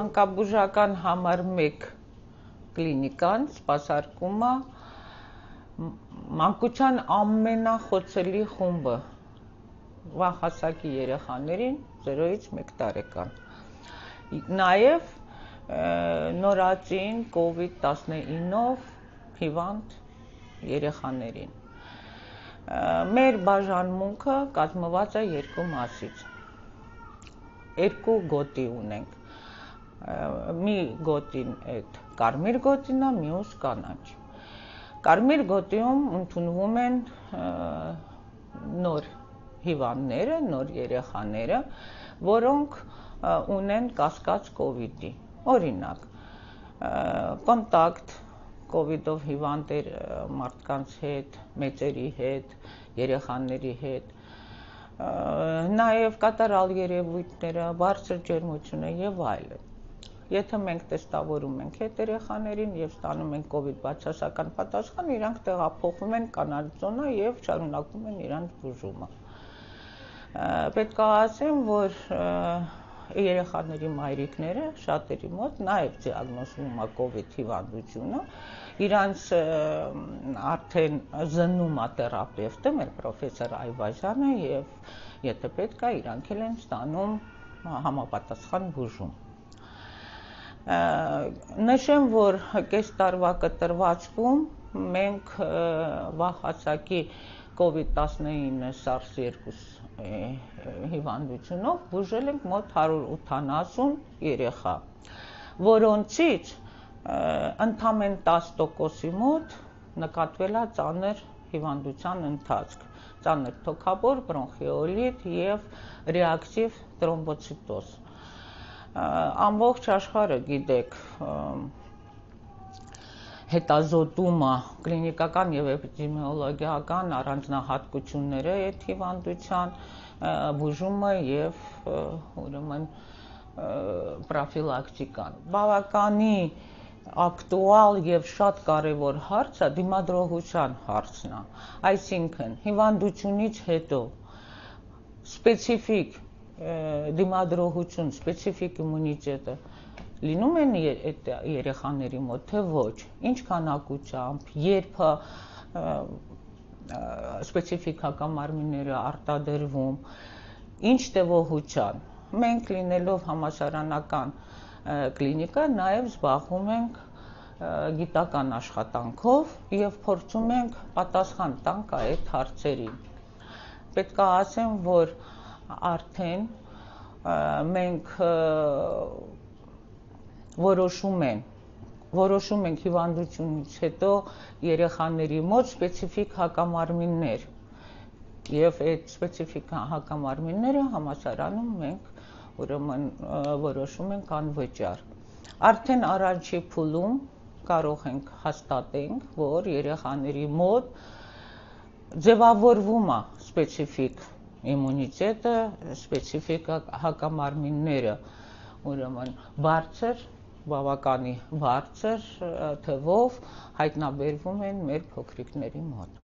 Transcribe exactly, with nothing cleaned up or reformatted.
Մանկաբուժական համար մեկ կլինիկան սպասարկում է մանկության ամենախոցելի խումբը վաղ հասակի երեխաներին զերոյից մեկ տարեկան։ Նաև նորածին կովիդ տասնինով հիվանդ երեխաներին։ Մեր բաժանմունքը կազմված է երկու մասից։ Երկու գոտի ունենք։ Մի գոտին այդ կարմիր գոտին է, մյուս կանաչ։ Կարմիր գոտիում ընդունվում են նոր հիվանդները, նոր երեխաները, որոնք ունեն կասկած կովիդի։ Օրինակ, կոնտակտ կովիդով հիվանդ մարդկանց հետ, մեծերի հետ, երեխաների հետ, նաև կատարյալ երևույթները, բարձր ջերմությունը եւ այլն։ Եթե մենք տեստավորում ենք այդ երեխաներին եւ ստանում ենք կովիդ բացասական պատասխան, իրանք տեղափոխվում են կանաչ զոնա եւ շարունակում են իրանց բուժումը։ Պետք է ասեմ, որ երեխաների մայրիկները շատերի մոտ նաև դիագնոզվում է կովիդ հիվանդությունը, իրանց արդեն զննում է թերապևտը, մեր պրոֆեսոր Այվազյանը, եւ եթե պետք է, իրանք էլ են ստանում համապատասխան բուժում։ Նշեմ, որ կես տարվա կտրվածքում մենք վաղ հասակի կովիդ տասնինը սարս երկու հիվանդությունով բուժել ենք մոտ հարյուր ութանասուն երեխա, որոնցից ընդամենը տասը տոկոսի մոտ նկատվել է ծանր հիվանդության ընթացք, ծանր թոքաբոր, բրոնխեոլիտ եւ ռեակտիվ տրոմբոցիտոզ։ Ամբողջ աշխարհը գիտեք, հետազոտումը, կլինիկական եւ էպիդեմիոլոգիական առանձնահատկությունները այդ հիվանդության բուժումը եւ ուրեմն պրոֆիլակտիկան։ Բավականի ակտուալ եւ շատ կարեւոր հարցը դիմադրողության հարցն է, այսինքն հիվանդությունից հետո սպეციფიկ դիմադրողություն, սպეციფიկ իմունիտետը լինում են այդ երեխաների մոտ, թե ոչ, ինչ քանակությամբ, երբ սպეციფიկ հակամարմինները արտադրվում, ինչ տևողությամբ։ Մենք լինելով համալսարանական կլինիկա նաև զբաղվում ենք գիտական աշխատանքով եւ փորձում ենք պատասխան տանք այդ հարցերին։ Պետք է ասեմ, որ արդեն մենք որոշում ենք որոշում ենք հիվանդությունից հետո երեխաների մոտ սպეციფიկ հակամարմիններ եւ այդ սպеციფիկ հակամարմինները համալսարանում մենք ուրեմն որոշում ենք անվճար։ Արդեն առաջի փուլում կարող ենք հաստատենք, որ երեխաների մոտ ձևավորվում է սպеციფიկ իմունիտետը, սպеციფիկ հակամարմինները, ուրեմն բարձր, բավականի բարձր թվով հայտնաբերվում են մեր փոքրիկների մոտ։